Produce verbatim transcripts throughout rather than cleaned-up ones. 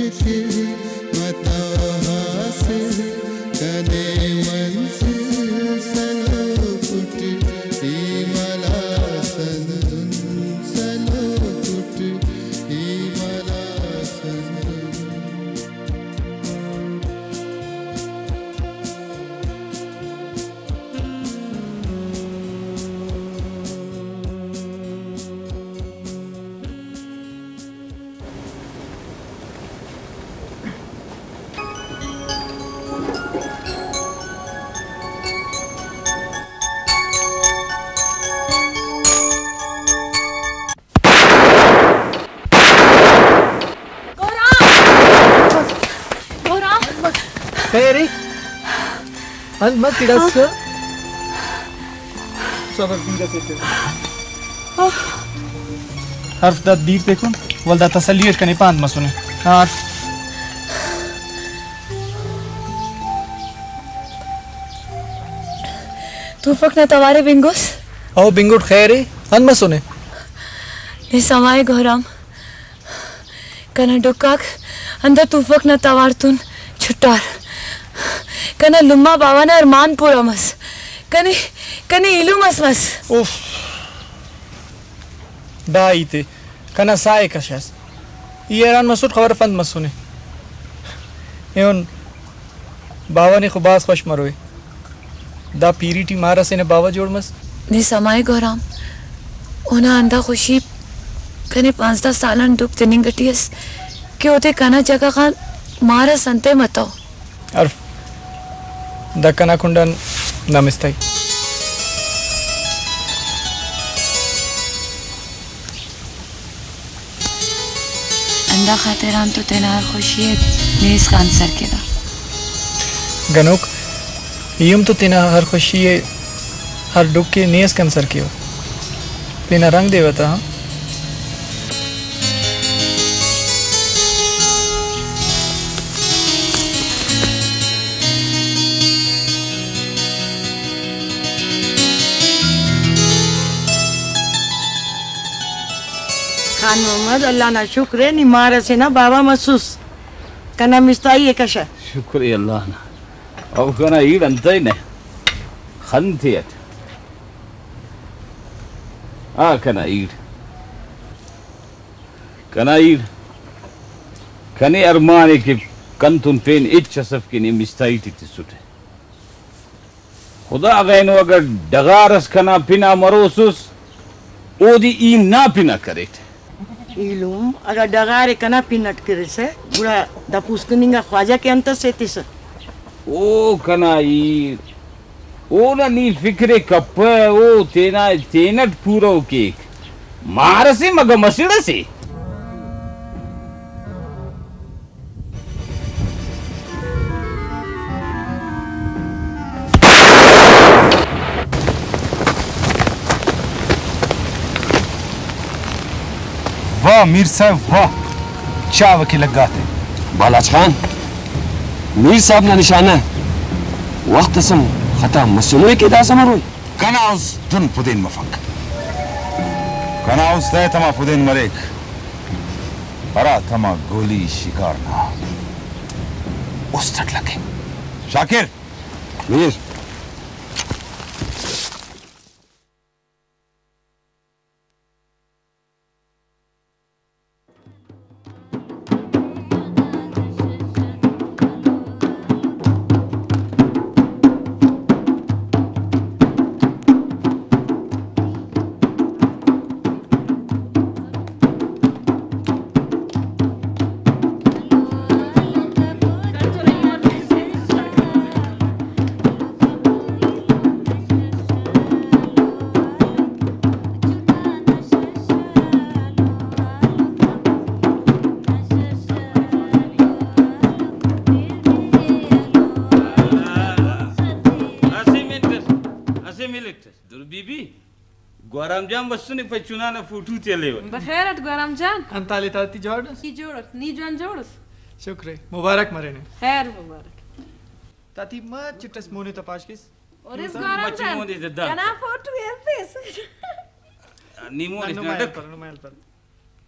متو حاصل کنے منزل سلو پٹ، ای ملا سندن سلو پٹ، ای ملا سندن۔ گوہرام! گوہرام! خیر ءِ؟ انت مس گڑاس؟ صبر، دیر اسے تے۔ حرف دا دیر تیکن، ولدا تسلی اٹ کنے پانت مسنے۔ ہاں حرف۔ توفک نا توارے بنگس؟ او بنگٹ خیر ءِ، انت مسنے؟ نے سمائے گوہرام۔ کنا ڈکھ آک ہندا توفک نا توار تون چھٹار۔ کنا لمہ باوہ نا ارمان پورا مس۔ کنے، کنے ایلم اس مس۔ اف۔ دا ہیت ءِ کنا ساہ ءِ کشاس۔ ای حیران مسٹ خبر اف انت مسنے۔ ایہن باوہ نے خو بھاز خوش مروئے۔ دا پیری ٹی مار اسے نا باوہ جوڑ مس۔ نے سمائے گوہرام، اونا ہندا خوشی کنے پانزدہ سال آن ڈکھ تننگ ٹی ئس کہ اودے کنا جگہ غان مار اس انتئے متو۔ حرف، دا کنا کنڈ آن نا مستائی۔ ہندا خاطر آن تو تینا ہر خوشی ءِ نے اسکان سر کینہ۔ گنوک، ای ہم تو تینا ہر خوشی ءِ، ہر ڈکھ ءِ نے اسکان سر کیوہ۔ تینا رنگ دے وتا، ہاں۔ خان محمد، اللہ نا شکر ءِ، نی مار اسے نا باوہ مسوس۔ کنا مستائی ءِ کشہ۔ شکر ءِ اللہ نا۔ او کنا ایڑ انتئے نہ خن تے اٹ۔ آ کنا ایڑ۔ کنا ایڑ۔ کنے ارمان ءِ کہ کنتون پین ہچ اس اف کہ نی مستائی ٹی تسٹہ۔ خدا غینو، اگہ ڈغار اس کنا پن آ مروسس، اودے ای نا پن آ کریٹ۔ ایلم، اگہ ڈغار ءِ کنا پن اٹ کریسہ، گڑا دا پوسکن انگا خواجہ کہ انت ئس ایتسہ؟ او کنا ایڑ، اونا نی فکر ءِ کپہ، او تینا تینٹ پورو کیک۔ مار اسے مگہ مسڑ اسے۔ واہ میر صاحب واہ، چاوہ کہ لگاتے۔ بالاچ خان، میر صاحب نا نشانہ وخت اس ہم خطا مسنوئے کہ داسہ مروئے۔ کنا است دن پدین مفک، کنا است ءِ تما پدین مریک۔ ہرا تما گولی شکار نا است اٹ لگے۔ شاکر! میر! اسہ منٹ اس، اسہ منٹ اس۔ در بی بی، گوہرام جان بسنے، پائے چنا نا فوٹو تے ہلیوہ۔ بخیر اٹ گوہرام جان۔ انت حال ءِ تاتی، جوڑ اس؟ ای جوڑ اس، نی جوان جوڑ اس؟ شکر ءِ، مبارک مرینے۔ خیر مبارک۔ تاتی مچٹ اس مون ءِ تا پاش کیس۔ اور اس گوہرام مچی جان، مون ءِ تا دا۔ کنا فوٹو ہیل پیس۔ نی مون نمائل ڈک۔ پر، نمائل پر۔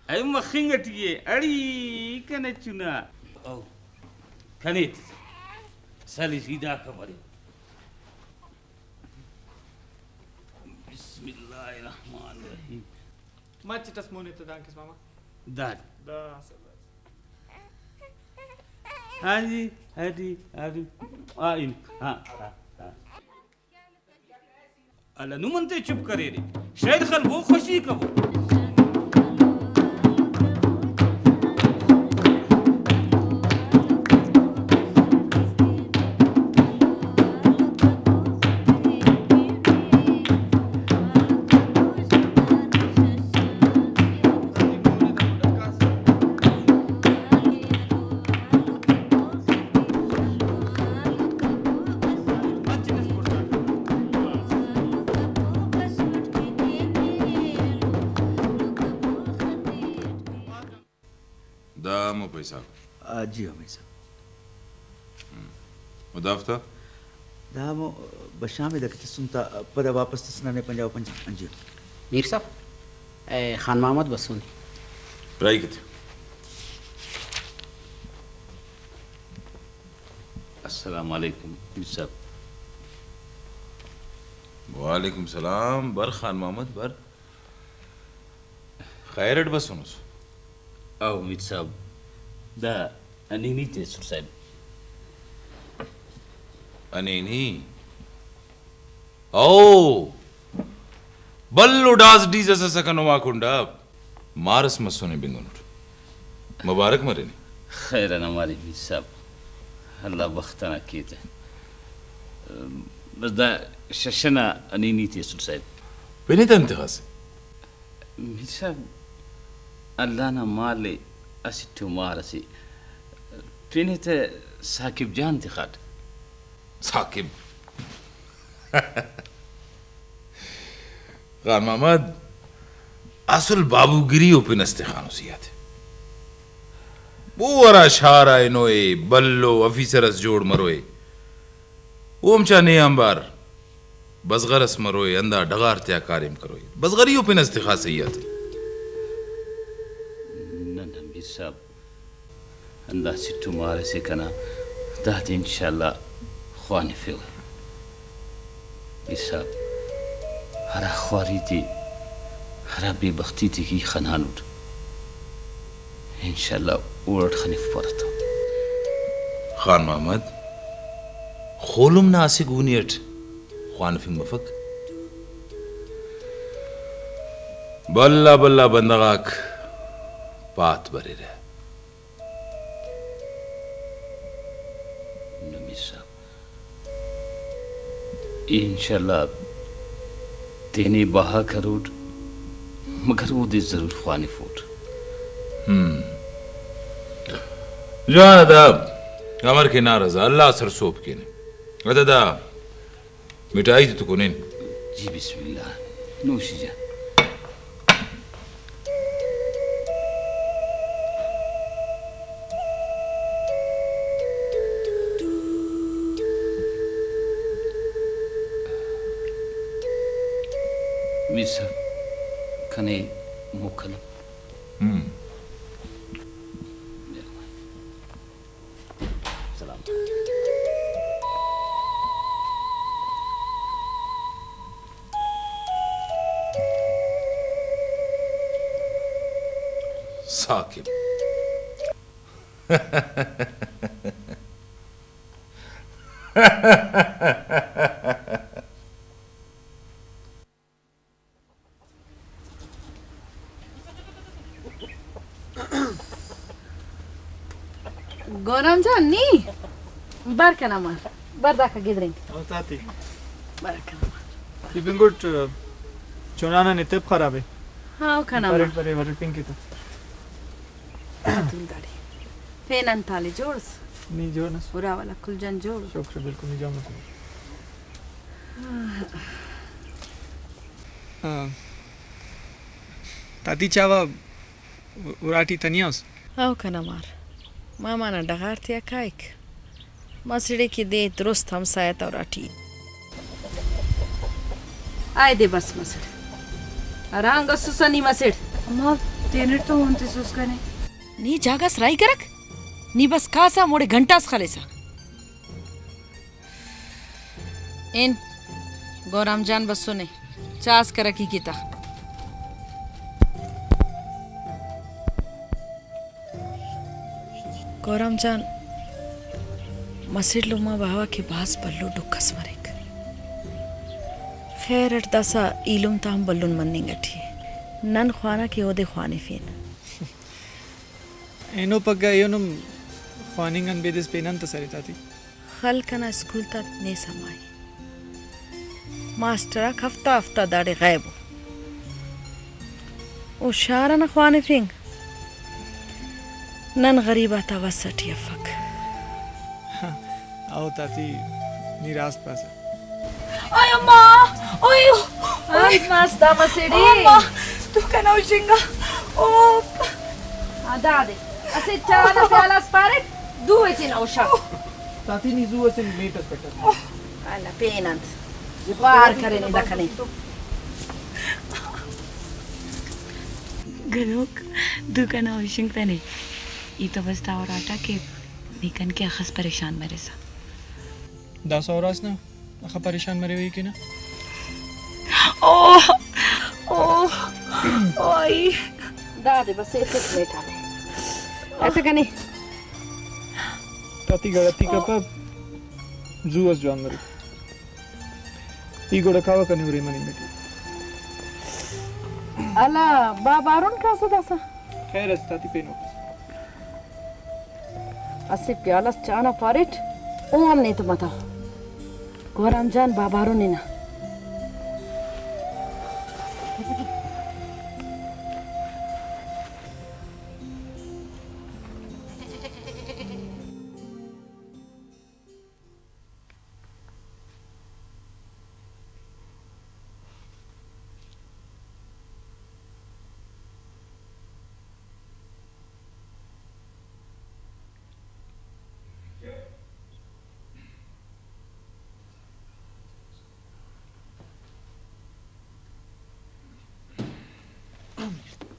اے مخنگ ٹی ءِ، اڑی کنے چنا۔ او، کنے سلی سیدھا کبڑے۔ بسم اللہ الرحمن الرحیم۔ مچٹ اس مونے تہ دانکس ماما۔ داد۔ دا اسہ بس۔ ہاں جی، ہاں جی، ہاں جی۔ آ، ان، ہاں، ہاں، ہاں۔ اللہ نم انتے چپ کریرے؟ شاید خل وہ خوشی کبو۔ دا ہمو پیسہ۔ آ، جی ہاں، میر صاحب۔ ہم۔ و دافتا؟ دا ہمو بشام ءِ دا کہ تسن تا پدا واپس تس ننے پنجاہ و پنچ۔ جی۔ میر صاحب، اے خان محمد بسونے۔ راہی کتے۔ السلام علیکم میر صاحب۔ وعلیکم السلام۔ بر خان محمد، بر۔ خیر اٹ بسونس؟ او میر صاحب، دا انینی تے سر صاحب۔ انینی؟ او! بھلو ڈاس ڈیزہ سسکہ نما کنڈا۔ مار اس مسنے بندن اٹ۔ مبارک مرینے۔ خیر انا مارے میر صاحب، اللہ بخت انا کیتہ۔ بس دا شش انا انینی تے سر صاحب۔ پین ای تا انت خاسے؟ میر صاحب، اللہ نا مال ءِ، اسٹ ءُ مار اسے۔ پین ءِ تہ ثاقب جان تخاٹ۔ ثاقب۔ خان محمد، اصل بابوگری ءُ پن اس تخانو سیات۔ او ہرا شار آ ہنوئے، بھلو آفیسر اس جوڑ مروئے۔ او ہم چا نے آنبار بزغر اس مروئے، ہندا ڈغار تیا کاریم کروئے۔ بزغری ءُ پن اس تخا سہی آتے۔ نہ، نہ، میر صاحب، ہندا سٹھ و مار اسے کنا، دادے انشاءاللہ خوانفیوہ۔ میر صاحب، ہرا خواری تے، ہرا بے بختی تے کہ ای خنانٹ، انشاءاللہ اوڑٹ خنفپرہ تا۔ خان محمد، خولم نا اسہ گونی اٹ خوانفنگ مفک۔ بھلا بھلا بندغ آک پات بریرہ۔ نمیر صاحب، ای انشاءاللہ تینے بہا کروٹ، مگر اودے ضرور خوانفوٹ۔ ہم۔ جوان آ دا امر کے نا رضا، اللہ سرسہب کینے۔ ادا دا مٹھائی تے تو کنین۔ جی بسم اللہ، نوشی جان۔ میر صاحب، کنے موکل۔ ہم۔ سلام۔ ثاقب۔ گونام جان، نی بر کنا مار، بر داکا گدرینگ۔ او تاتی۔ بر کنا مار۔ ای بنگٹ، چونانا نے تیپ خراب ہے۔ ہاں، او کنا مار۔ پرے، پرے، ورے پنکے تو۔ تول داڑے۔ پین انت حال ءِ، جوڑ اس؟ نی جوڑ نس۔ ارا والا کل جان جوڑ؟ شکر، بالکل نی جوڑ مس۔ ہاں۔ تاتی چاوا اراٹی تنیا اس؟ او کنا مار، ماما نا ڈغار تیا کائک۔ مسڑے کہ دے درست ہمسایہ تا اراٹی۔ آئے دے بس مسڑ۔ ہرانگ اسسا نی مسڑ۔ اماں، تینٹ تو ہون تسوس کنے۔ نی جاگہ اس راہی کرک؟ نی بس کاسہ ہموڑے گھنٹہ اس خلیسہ۔ ہن گورام جان بسنے، چاء اس کرکی کیتا۔ گورام جان، مسڑ لمہ باوہ کہ بھاز بھلو ڈکھ اس مریک۔ خیر اٹ داسہ ایلم تا ہم بھلن مننگ اٹی ءِ۔ نن خوانہ کہ اودے خوانفین۔ اینو پگہ ایہن ہم خواننگ آن بیدس پین انت ئس ارے تاتی؟ خلق انا اسکول تا نے سما ءِ۔ ماسٹر آک ہفتہ ہفتہ داڑے غائب ءُ۔ او شار انا خوانفنگ نن غریب آتا وس اٹی افک۔ او تاتی، نی راست پاسہ۔ اوئے اماں، اوئے، اوئے۔ آج ماس دا مسیڑی۔ او اماں، تو کنا ہشنگا۔ او۔ آ، دادے۔ اسہ چاء نا پیالہ اس پاریٹ، دو ایتن اوشا۔ تاتی نی زو اسہ میٹ اس پٹس۔ اللہ پین انت۔ وار کرے نی دکھنے۔ گنوک، دو کنا ہشنگ تنے۔ ای تو بس دا اراٹا کہ نی کن کہ اخس پریشان مریسہ۔ داسہ اراس نا۔ اخہ پریشان مریوہ ای کہ نا؟ اوہ، اوہ، اوئی۔ دادے بس ایسٹ میٹھا۔ ایسے کنے۔ تاتی گڑتی کپہ، زو اس جوان مرے۔ ای گڑا کاوہ کنے ارے مننگ ٹی۔ الا با بارون کاسہ داسہ۔ خیر اس تاتی پینوکس۔ اسہ پیالہ اس چاء نا پاریٹ، او ہم نیتہ متو۔ گوہرام جان، بابارو ننا۔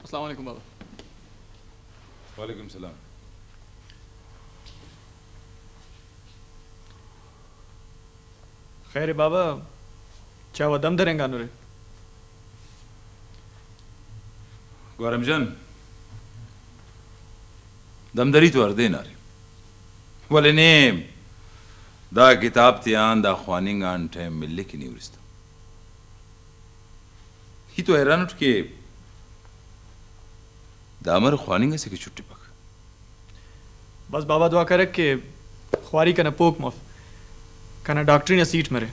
السلام علیکم بابا۔ وعلیکم السلام۔ خیر بابا، چاوہ دم درینگانرے؟ گوہرام جان، دم دری تو ہر دے نا ارے، ولے نے دا کتاب تیان دا خواننگ آن ٹائم ملک نی ہُرس تہ۔ ای تو حیران اٹ کہ دا امر خواننگ اسے کہ چھٹفک۔ بس بابا دعا کرک کہ خواری کنا پوک مف، کنا ڈاکٹری نا سیٹ مرے۔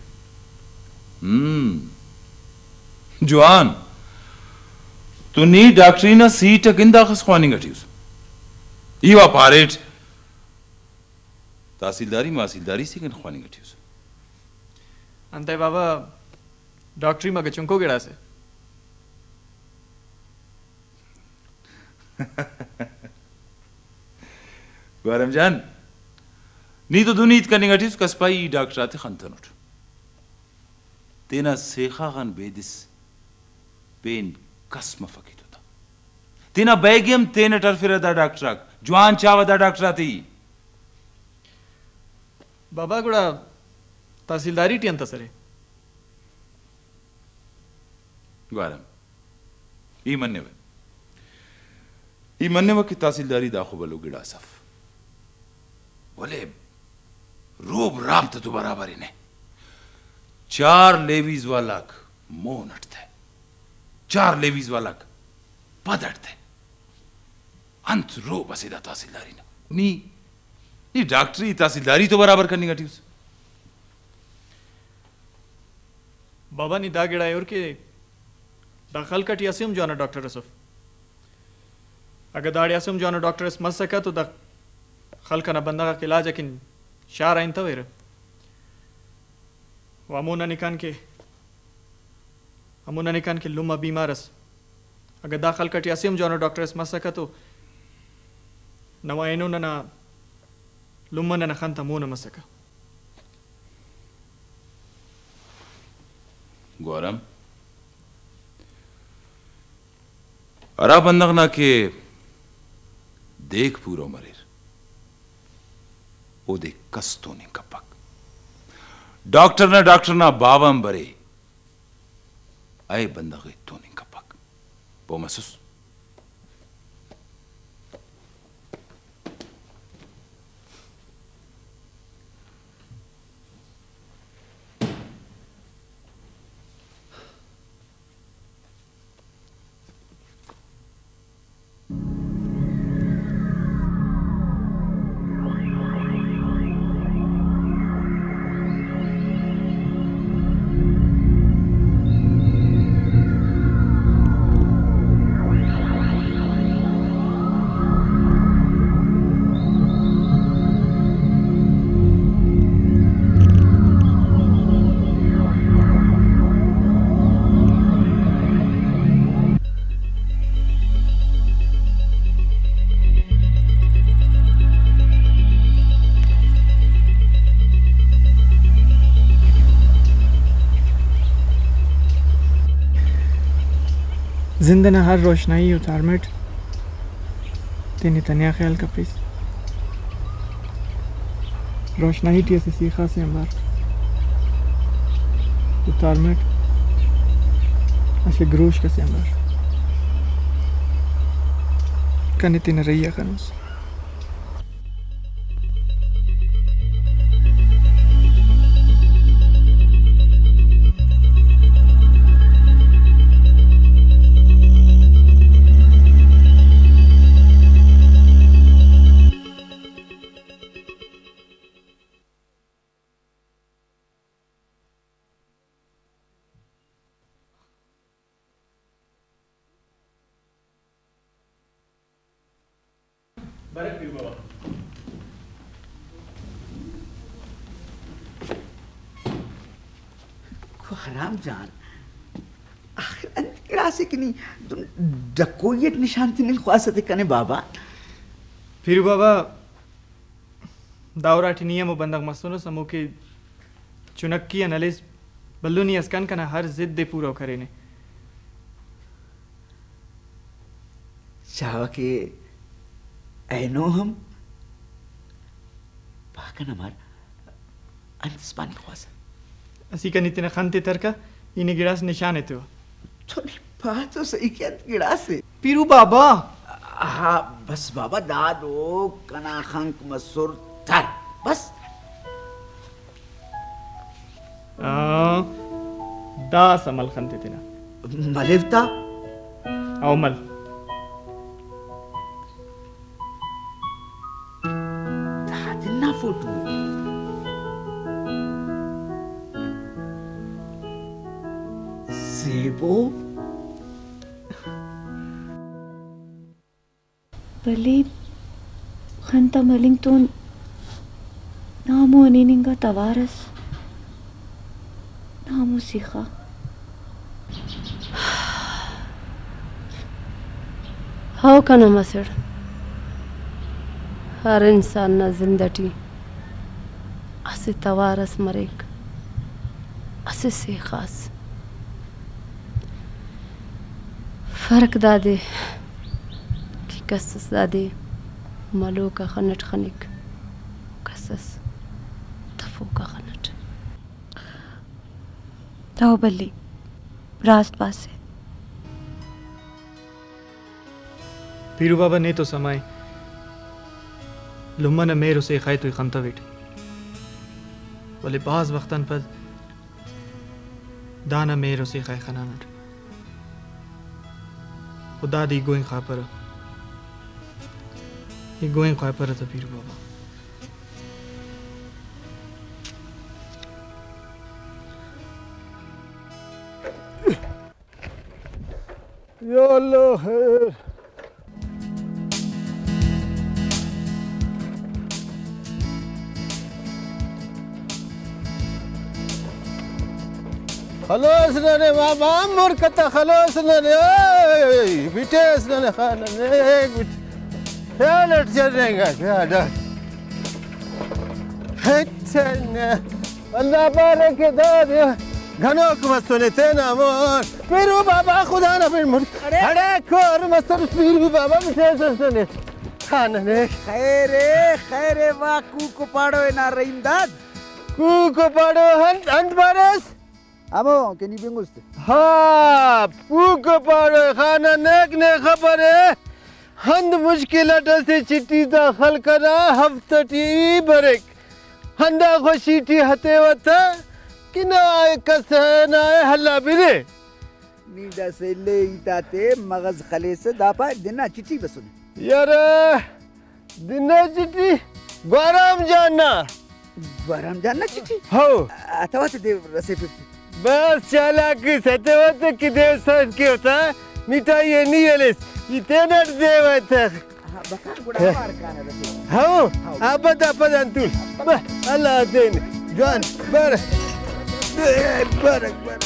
ہم۔ جوان۔ تو نی ڈاکٹری نا سیٹ اکن داخس خواننگ اٹی اس۔ ای وا پاریٹ تحصیلداری ماصیلداری سے کن خواننگ اٹی اس۔ انتئے بابا، ڈاکٹری مگہ چنکو گڑاسے۔ گوہرام جان، نی تو دن ہیت کننگ اٹی اس، کس پائی ای ڈاکٹر آتے خنتنٹ۔ تینا سیخا غان بیدس پین کس مفک ایتو تا۔ تینا بیگہ ہم تینٹ ہرفرہ دا ڈاکٹر آک۔ جوان چاوہ دا ڈاکٹر آتے ای۔ بابا، گڑا تحصیلداری ٹی انت ئسرے؟ گوارم، ای منوہ، ای منوہ کہ تحصیلداری داخو بھلو گڑاس اف، ولے روب رابطہ تو برابر ہنہ۔ چار لیویز والاک مون اٹ تہ، چار لیویز والاک پد اٹ تہ۔ انت روب اسے دا تحصیلداری نا؟ نی، نی ڈاکٹری تحصیلداری تو برابر کننگ اٹی اس۔ بابا، نی دا گڑا ءِ ہُر کہ دا خلق اٹی اسہ ہم جوانو ڈاکٹر اس اف۔ اگہ داڑے اسہ ہم جوانو ڈاکٹر اس مسکہ تو دا خلق انا بندغ آک علاج اکن شار آ ہنتویرہ۔ و ہمو ننے کان کہ، ہمو ننے کان کہ لمہ بیمار اس۔ اگہ دا خلق اٹی اسہ ہم جوانو ڈاکٹر اس مسکہ تو نوا اینو ننا لمہ ننا خن تا مون آ مسکہ۔ گوارم، ہرا بندغ نا کہ دیک پورو مریر، اودے کس توننگ کپک۔ ڈاکٹر نا ڈاکٹر نا باوہ ہم برے، اے بندغ ءِ توننگ کپک۔ پہہ مسس؟ زند ئنا ہر روشنائی ءِ تارمٹ، تینے تنیا خیال کپیس۔ روشنائی ٹی اسہ سیخا سے آنبار، او تارمٹ اسہ گروشک اسے آنبار، کنے تینا رہی آ خنوس۔ کو حرام جان، آخر انت گڑاسے کہ نی دن ڈکوئی اٹ نشان تننگ خواسہ تے کنے بابا؟ پیرو بابا، دا اراٹی نی ہمو بندغ مسونس، ہمو کہ چنکی آن ہلیس بھلنی اس کن کنا ہر ضد ءِ پورو کرینے۔ چاوہ کہ اینو ہم پا کنا مار انت اس پاننگ خواسہ؟ اسیکا نی تینا خن تے ترکہ، ای نے گڑاس نشان ایتیوہ۔ تو نی پا تو سہی کہ انت گڑاسے؟ پیرو بابا۔ ہا، بس بابا، دادو کنا خنک مسر تر۔ بس۔ آ، داسہ مل خن تے تینا۔ ملیو تا؟ او مل۔ دا تینا فوٹو ءِ۔ زیبو۔ بھلی، خن تا ملنگ تون نا ہمو ہنیننگا توار ئس، نا ہمو سیخا۔ ہو کنا مسڑ، ہر انسان نا زند اٹی اسہ توار اس مریک، اسہ سیخا ئس۔ فرق دادے کہ کس اس دادے ملوک آ خن اٹ خنک، کس اس تفوک آ خن اٹ۔ ہو بھلی، راست پاسے۔ پیرو بابا، نے تو سما ءِ، لمہ نا مہر و سیخا ءِ تو ای خنتویٹ، ولے بھاز وخت آن پد دانا مہر و سیخا ءِ خنانٹ۔ و دادے ای گوئنگ خواپرہ، ای گوئنگ خواپرہ تہ پیرو بابا۔ یا اللہ خیر۔ خلوص ننے بابا، مر کتہ خلوص ننے، اوئے، بٹیس ننے خان ننے، ایک بٹ-، خیال اٹ چلینگا، خیال اٹ۔ ہچ نہ۔ اللہ پارے کہ دادے گنوک مسنے تینا مون۔ پیرو بابا خدا نا پین مون۔ اڑے۔ اڑے کور مسر پیرو بابا بٹیس اس ننے۔ خان نے۔ خیر اے، خیر ءِ واہ، کوکو پاڑو نا رحیم داد۔ کوکو پاڑو انت، انت پاریس؟ ہمو کہ نی بنگس تے۔ ہا، کوکو پاڑو خانہ، نیک نے خبر ءِ۔ ہند مشکل اٹ اسہ چٹھی تا خلق انا ہفتہ ٹی بریک۔ ہندا خوشی ٹی ہتیوہ تہ کہ نا کس نا ہلا بنے۔ نی داسہ اِلے ہیت آتے مغز خلیسہ، دا پا دنا چٹھی بسنے۔ یار، دنا چٹھی؟ گوہرام جان نا۔ گوہرام جان نا چٹھی؟ ہو۔ اتو تے دے رسیفک۔ بس چالاک اس اتو تے کہ دے سر کے ہوتا، مٹھائی اے نی ہلیس، ای تینٹ دے وتہ۔ ہاں، بکا گڑا پار کانہ رسے۔ ہاں، ہاں۔ آ پدا، پدا انتون۔ بس، اللہ دین۔ جوان، بر۔ بر، بر، بر۔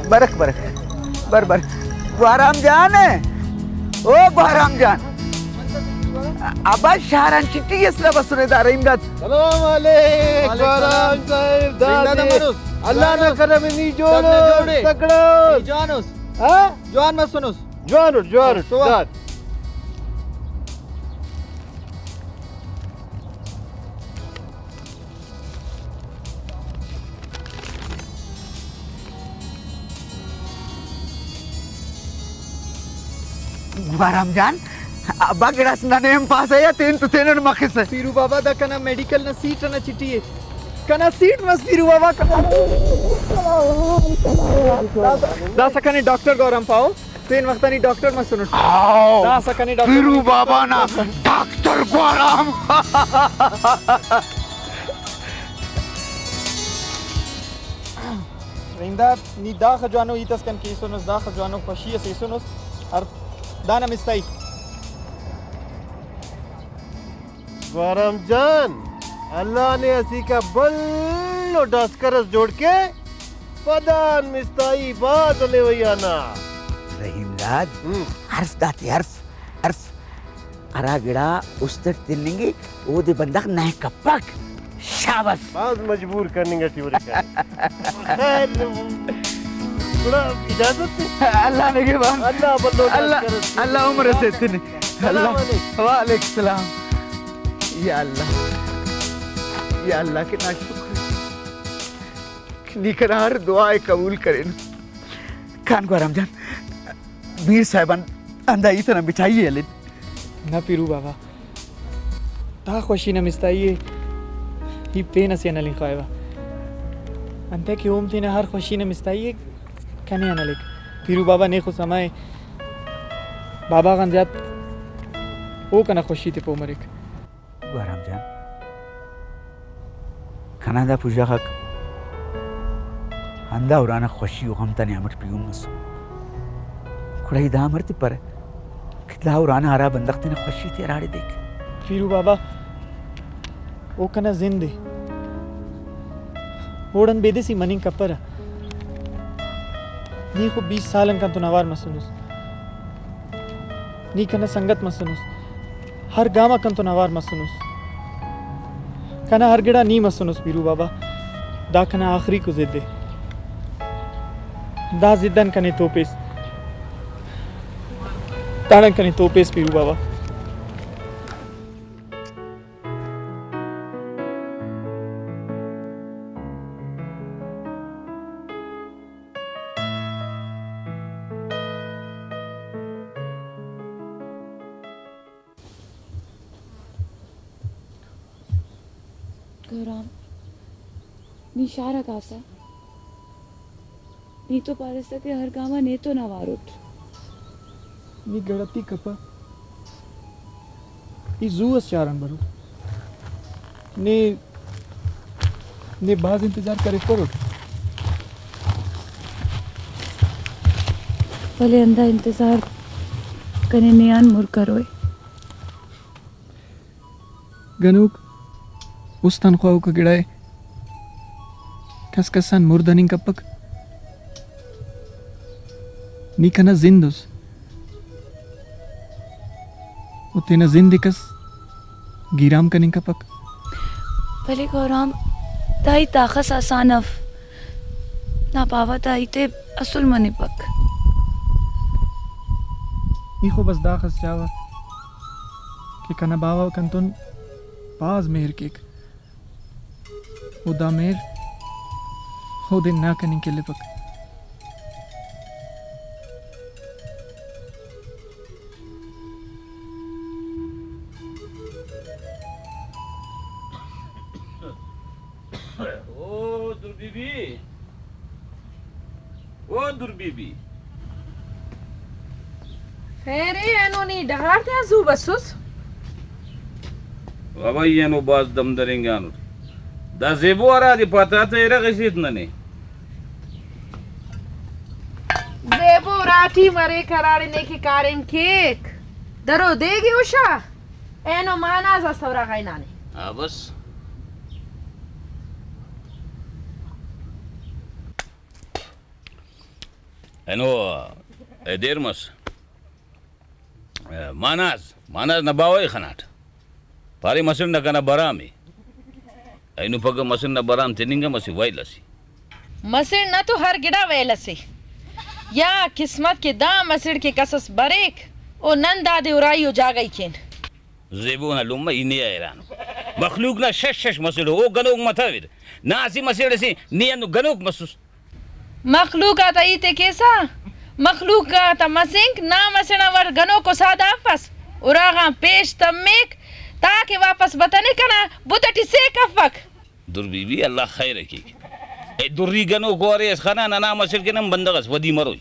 برک، برک۔ بر، بر۔ گوہرام جان۔ او گوہرام جان۔ ابا شار آن چٹھی اس نا بسنے دا رحیم داد۔ سلام علیک، وعلیک گوہرام السلام۔ صاحب، رحیم داد دادے۔ امر اس؟ اللہ نا جوان اس؟ کرم نی جوڑ دادے اس، جوڑ ئے؟ تکڑا اس؟ نی جوان اس؟ ہاں؟ جوان مسنس؟ جوان اٹ، جوان اٹ، تو آ۔ داد۔ گوہرام جان، ابا گڑاس ننے ہم پاسہ یا تین تو تینن مخسہ۔ پیرو بابا، دا کنا میڈیکل نا سیٹ ئنا چٹھی ءِ۔ کنا سیٹ مس پیرو بابا، کنا۔ داسہ کنے ڈاکٹر گوہرام پاہو۔ پین وخت آ نی ڈاکٹر مسنٹ۔ آؤ، داسہ کنے ڈاکٹر پیرو بابا نا ڈاکٹر گوہرام۔ رحیم داد، نی داخہ جوانو ہیت اس کن کیسنس، داخہ جوانو خوشی اس ایسنس، ہر دانا مستائی۔ گوہرام جان، اللہ نے اسیکا بھلو ڈاسکر اس جوڑ کے، پدان مستائی بھاز ہلیوئی آنا۔ رحیم داد، ہم۔ حرف داتے حرف، حرف۔ ہرا گڑا است اٹ تننگے، اودے بندغ نہ کپک۔ شاباس۔ بھاز مجبور کننگ اٹی ارے۔ خیر، گڑا اجازت ءِ۔ اللہ نگہبان۔ اللہ بھلو اللہ، ڈاکٹر اس۔ اللہ عمر اس ایتنے۔ سلام اللہ۔ علیکم۔ وعلیکم السلام۔ یا اللہ، یا اللہ، کنا شکر کہ نی کنا ہر دعا ءِ قبول کرینس۔ کان گوہرام جان، میر صاحب آن ہندا ہیت ئنا مٹھائی ءِ ہلین۔ نہ پیرو بابا، دا خوشی نا مستائی ءِ ای پین اسے آن ہلنگ خواہوہ، انتئے کہ اوم تینا ہر خوشی نا مستائی ءِ کنے آن ہلیک۔ پیرو بابا نے خو سما ءِ، بابا غان زیات او کنا خوشی تے پہہ مریک۔ گوہرام جان، کنا دا پژہ غاک ہندا ارانا خوشی و غم تا نیام اٹ پیہن مسنے۔ گڑا ای دا امر تپرہ کہ دا ارانا ہرا بندغ تینا خوشی تے ہراڑے دیک؟ پیرو بابا، او کنا زند ءِ، اوڑان بیدس ای مننگ کپرہ۔ نی خو بیست سال آن کنتون اوار مسنس۔ نی کنا سنگت مسنس، ہر گام آ کنتون اوار مسنس۔ کنا ہر گڑا نی مسنس پیرو بابا، دا کنا آخریکو ضد ءِ۔ دا ضد آن کنے توپیس، داڑان کنے توپیس پیرو بابا۔ گوہرام، نی شار آ کاسہ؟ نی تو پاریسہ کہ ہر گام آ نیتون اوار اٹ۔ نی گڑتی کپہ، ای زو اس شار آن برو۔ نے، نے بھاز انتظار کریفروٹ۔ ولے ہندا انتظار کنے نے آن مر کروئے۔ گنوک است آن خواہوکا گڑا ءِ، کس کس آن مر دننگ کپک۔ نی کنا زند اس، و تینا زند ءِ کس گیرام کننگ کپک۔ ولے گوہرام، دا ہیت داخس آسان اف، نا باوہ دا ہیت ءِ اسل منپک۔ ای خو بس داخس چاوہ کہ کنا باوہ کنتون بھاز مہر کیک، و دا مہر اودے نا کننگ کلپک۔ او در بی بی، او در بی بی۔ خیر ءِ، اینو نی ڈغار تیا زو بسس؟ بابا، ای اینو بھاز دم درینگانٹ۔ دا زیبو ہرادے پاتا تہ ارغ اسیت ننے۔ زیبو اراٹی مریک ہراڑے نے کہ کاریم کیک۔ درو دیگے ہشا۔ اینو ماناز اس اراغا ہنانے۔ ہاں بس۔ اینو اے دیر مس۔ ماناز، ماناز نا باوہ ءِ خناٹ۔ پارے مسڑ نا کنا برام ءِ۔ اینو پگہ مسڑ نا برام تننگ ہم اسہ ویل اسے۔ مسڑ نا تو ہر گڑا ویل اسے۔ یا قسمت کہ دا مسڑ کہ کس اس بریک، او نن دادے ارائی و جاگہ ءِ کین۔ زیبو نا لمہ ای نے آ حیران ءُ۔ مخلوق نا شش شش مسڑ ءُ، او گنوک متویر۔ نا اسہ مسڑ اسے نے ہندن گنوک مسس۔ مخلوق آتا ہیت ءِ کیسہ، مخلوق آتا مسنک نا مسڑ آن وڑ گنوک و سادہ افس، اراغان پیش تمیک تاکہ واپس بتنے کنا بت ٹی سیک افک۔ در بی بی، اللہ خیر ءِ کیک۔ اے دری گنوک و ارے اس خنا ننا مسڑ کن ہم بندغ اس ودی مروئی۔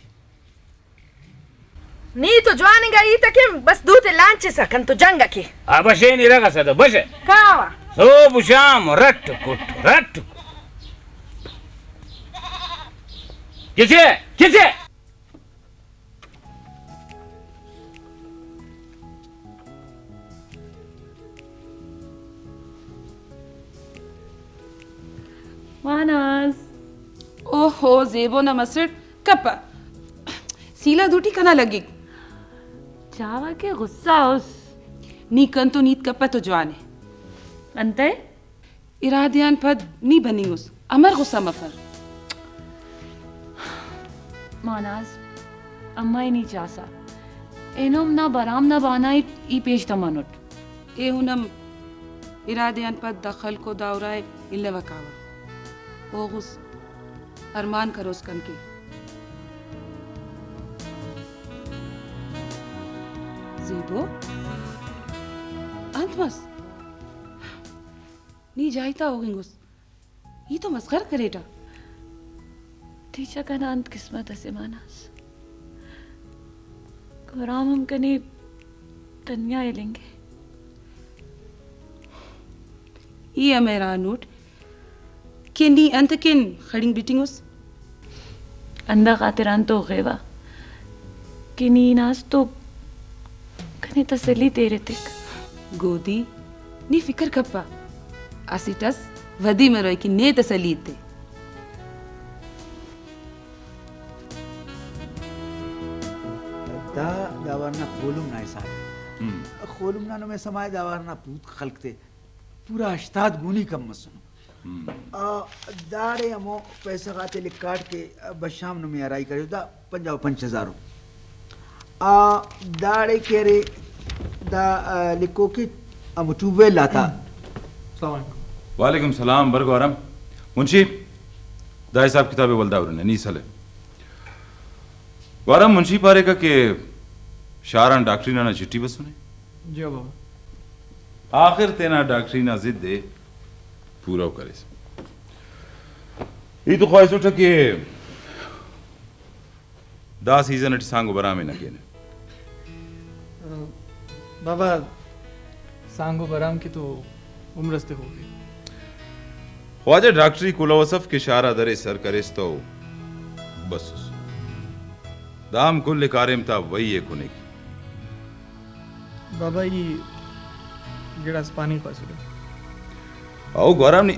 نی تو جوان انگا ہیت ءِ کن، بس دوتے لانچسا کن تو جنگ ءِ کے۔ آ بشین ارغ اسہ تہ بشہ۔ کاوہ۔ صبح و شام رٹ کٹ، رٹ کٹ۔ کسے؟ کسے؟ ماناز۔ اوہو، زیبو نا مسڑ۔ کپہ۔ سیلہ دوٹی کنا لگک۔ چاوہ کہ غصہ اس۔ نی کنتون ہیت کپہ تو جوان ءِ۔ انتئے؟ ارادے آن پد نی بننگ اس۔ امر غصہ مفر؟ ماناز، امہ ءِ نی چاسہ۔ اینو ہم نا برام نا بہانہ ءِ ای پیش تمانٹ۔ ایہن ہم ارادے آن پد دا خلق و دا ارا ءِ الوہ کاوہ۔ اوغس ارمان کروس کن کہ۔ زیبو، انت مس؟ نی جائی تا ہوغنگ اس۔ ای تو مسخر کریٹہ۔ تیچہ کنا انت قسمت اسے ماناز۔ گورام ہم کنے تنیا ہلنگے۔ ای ہم حیران اٹ کہ نی انت کن خڑینگ بٹنگ اس؟ ہندا خاطران تو غیوہ کہ نی ہناس تو کنے تسلی تے ایتک۔ گودی، نی فکر کپہ، اسٹ اس ودی مروئے کہ نے تسلی ایتے۔ دا، دا ورنا خولم نا حساب۔ ہم۔ خولم نا نمے سما ءِ، دا ورنا پوت خلک تے پورا ہشتاد گونی کم مسنو۔ ہم۔ آ، داڑے ہمو پیسہ غاتے لکھاٹ کہ بشام نمے ہرائی کریس، دا پنجاہ و پنچ ہزار ءُ۔ آ، داڑے کہ ارے دا، آ، لکھوک کہ ہمو ٹیوب ویل آتا۔ السلام علیکم۔ وعلیکم السلام، بر گوارم۔ منشی، دا حساب کتاب ءِ ولدا ہرنہ، نی سلے۔ گوارم، منشی پاریکہ کہ شار آن ڈاکٹری نا ننا چھٹی بسنے۔ جی بابا۔ آخر تینا ڈاکٹری نا ضد ءِ پورو کریس۔ ای تو خواہسٹہ کہ دا سیزن اٹی سانگو برام ءِ نہ کینہ۔ بابا، سانگو برام کہ تو عمر اس تخوک ءِ۔ خواجہ ڈاکٹری کلہو اس اف کہ شار آ درے سر کریس تو بسس۔ دا ہم کل کاریم تا وئی ءِ کنیک۔ بابا، ای گڑاس پاننگ خواہسرہ؟ او گورم نی۔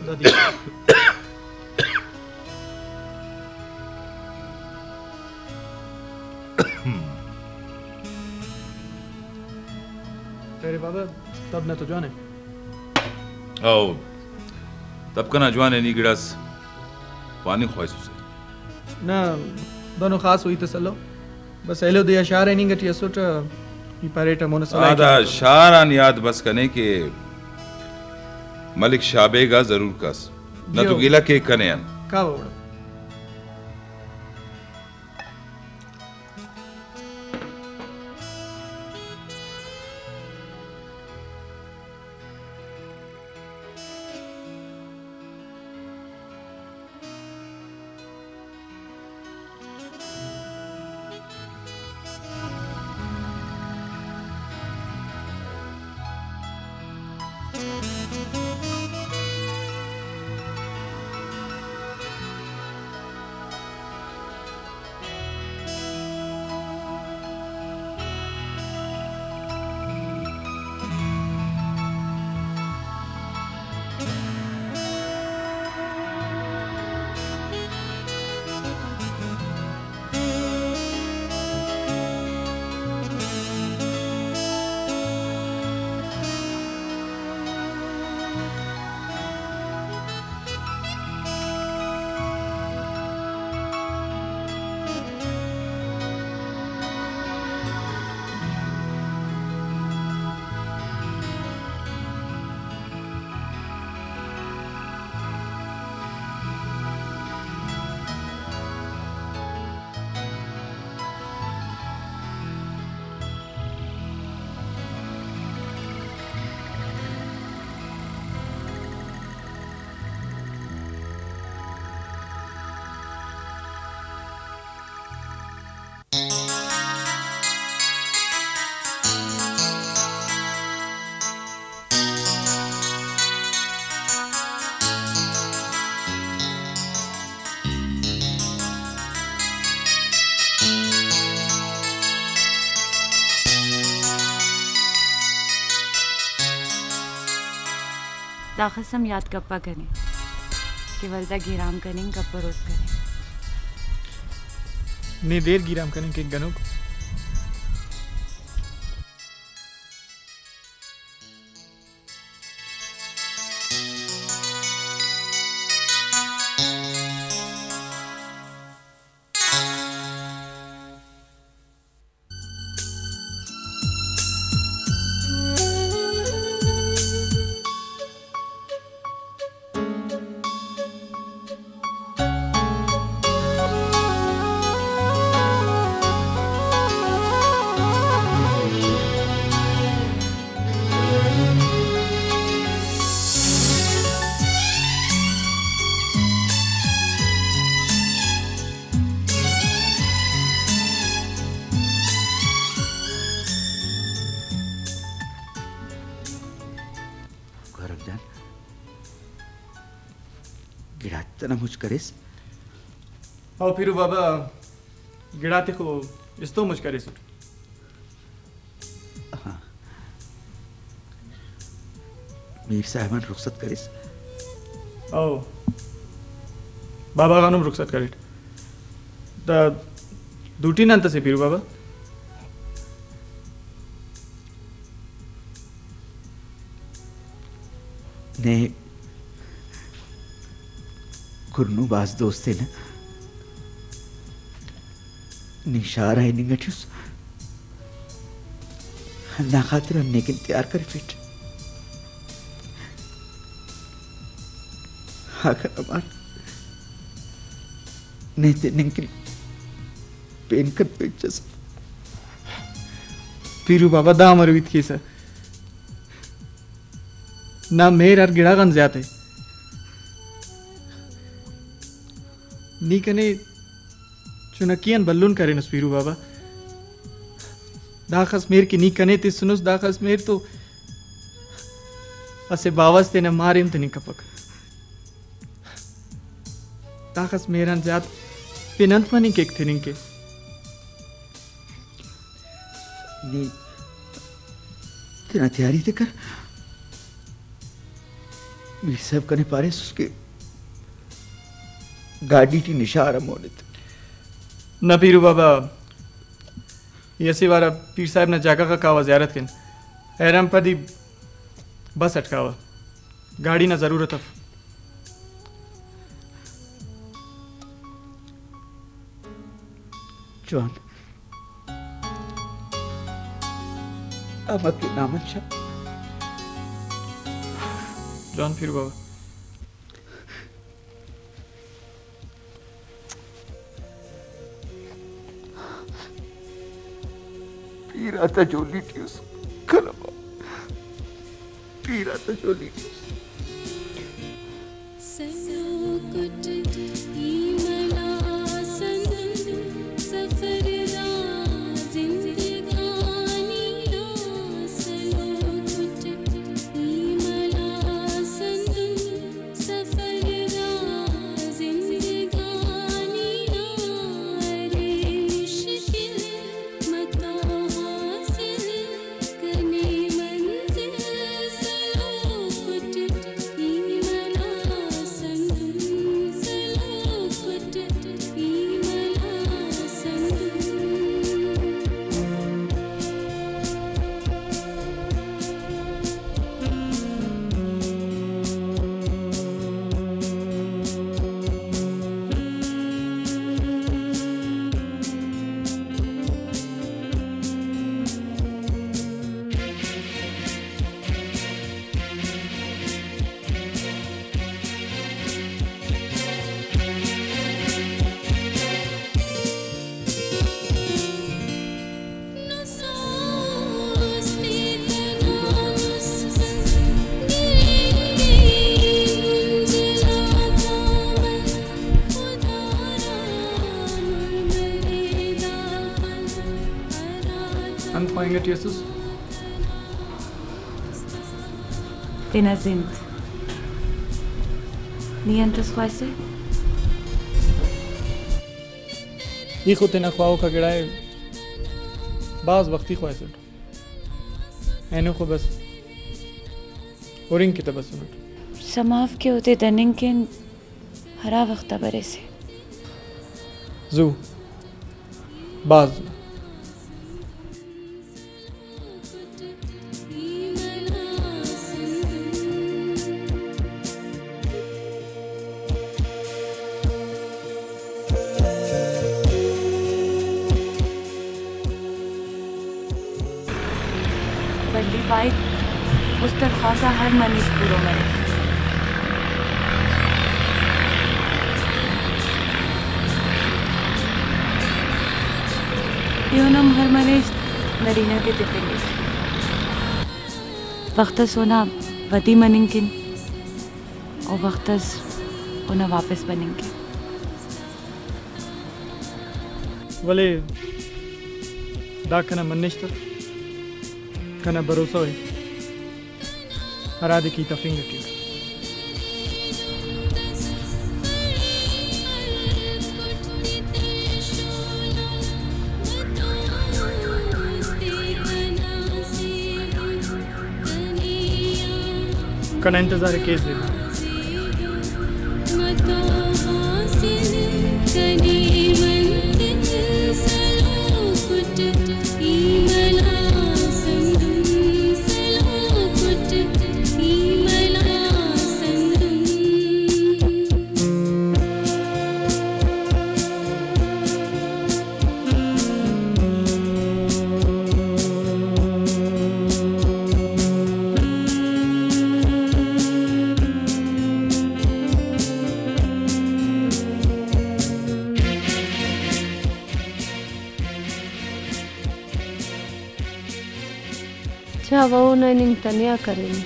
دادی۔ ہم۔ خیر بابا، تب نہ تو جوان ہے۔ او، تب کنا جوان ہے، نی گڑاس پاننگ خواہسوسے۔ نہ، دنو خاص ہوئی تسلو۔ بس ایلو دے آ شار آ ہننگ ٹی اسٹ، ای پاریٹ مون سلائٹ آ دا شار آن یاد بس کنے کہ ملک شاہ بیگ آ ضرور کس۔ نہ تو جیو۔ گلہ کیک کنے آن۔ کاوہ اوڑا۔ داخس ہم یات کپہ کنے کہ ولدا گیرام کننگ کپروس کنے۔ نے دیر گیرام کننگ کیک گنوک۔ گورک جان، گڑاتے تینا مچ کریس؟ او پیرو بابا، گڑاتے خو استو مچ کریسٹ۔ ہاں۔ میر صاحب آن رخصت کریس؟ او، بابا غانم رخصت کریٹ۔ دا دوٹی نا انت سے پیرو بابا؟ نے کرنو بھاز دوست ءِ نا۔ نی شار آ ہننگ ٹی اس، ہندا خاطر ہم نے کن تیار کرفیٹ۔ اگہ نا مار نے تننگ کن پین کن پین چس۔ پیرو بابا، دا امر ہیت کیسہ؟ نا مہر ہر گڑا غان زیات ءِ۔ نی کنے چنکی آن بھلن کرینس پیرو بابا۔ داخس مہر کہ نی کنے تسنس، داخس مہر تو اسہ باوہ اس تینا مارے ہم تننگ کپک۔ داخس مہر آن زیات پن انت مننگ کیک تننگ کہ؟ نی تینا تیاری تے کر۔ میر صاحب کنے پاریسس کہ گاڈی ٹی نشار ہم مون ایت۔ نہ پیرو بابا، ای اسہ وار آ پیر صاحب نا جاگہ غا کاوہ زیارت کن۔ حیران پدی بس اٹ کاوہ۔ گاڑی نا ضرورت اف۔ جوان۔ امر کے نام شاہ۔ جوان پیر بابا۔ پیر آتا جولی ٹی اس کلمہ۔ پیر آتا جولی ٹی اس۔ سلوکٹ ای ملا سنگت سفر دا زندگانی نا، سلوکٹ ای ملا سنگت سفر دا زندگانی نا، ارے مشکل متو حاصل کنے منزل، سلوکٹ ای ملا سنگت، سلوکٹ ای ملا سنگت۔ انت خواہنگ ٹی اسس؟ تینا زند۔ نی انت اس خواہسے؟ ای خو تینا خواہوکا گڑائے بھاز وختی خواہسٹ۔ اینو خو بس ہرنگ کہ تہ بسنٹ۔ سما اف کہ اودے دننگ کن ہرا وخت آ بریسے۔ زو، بھاز زو۔ بھلی پائک، مستر خواکہ ہر منیژ پورو مریک۔ ایہن ہم ہر منیژ نرینہ تے تفنگک۔ وخت اس اونا ودی مننگ کن، و وخت اس اونا واپس بننگ کن۔ ولے دا کنا منشت ء، کنا بھروسہ ء، ہرادے کہ ای تفنگ ٹی۔ کنا انتظار ء کیس زیبا۔ چا و اونا ہننگ تنیا کرینے۔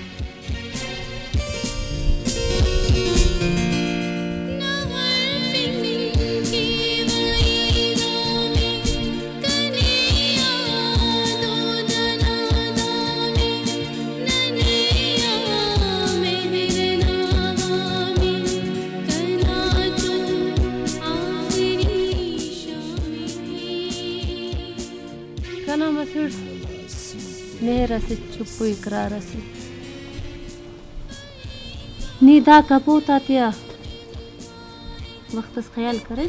کنا مسڑ مہر اسے، چپ و اقرار اسے۔ نی دا کپوت آتیا وخت اس خیال کرے۔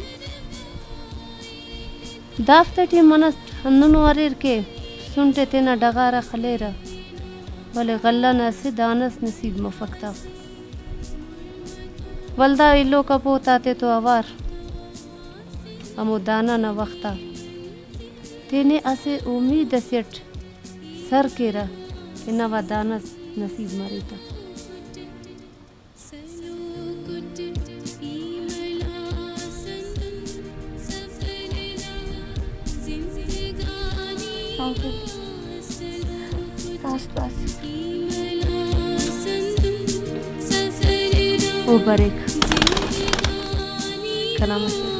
دافتے ٹی منٹ ہندنو اریر کہ سنٹ ءِ تینا ڈغار آ خلیرہ، ولے غلہ نا اسہ دانہ اس نصیب مفک تا۔ ولدا ایلوکا پہہ تاتے تو اوار ہمو دانہ نا وخت آ تینے اسہ امید اسے اٹ سر کیرہ کہ نوا دانہ اس نصیب مرے تا۔ او بریک کنا مسہ۔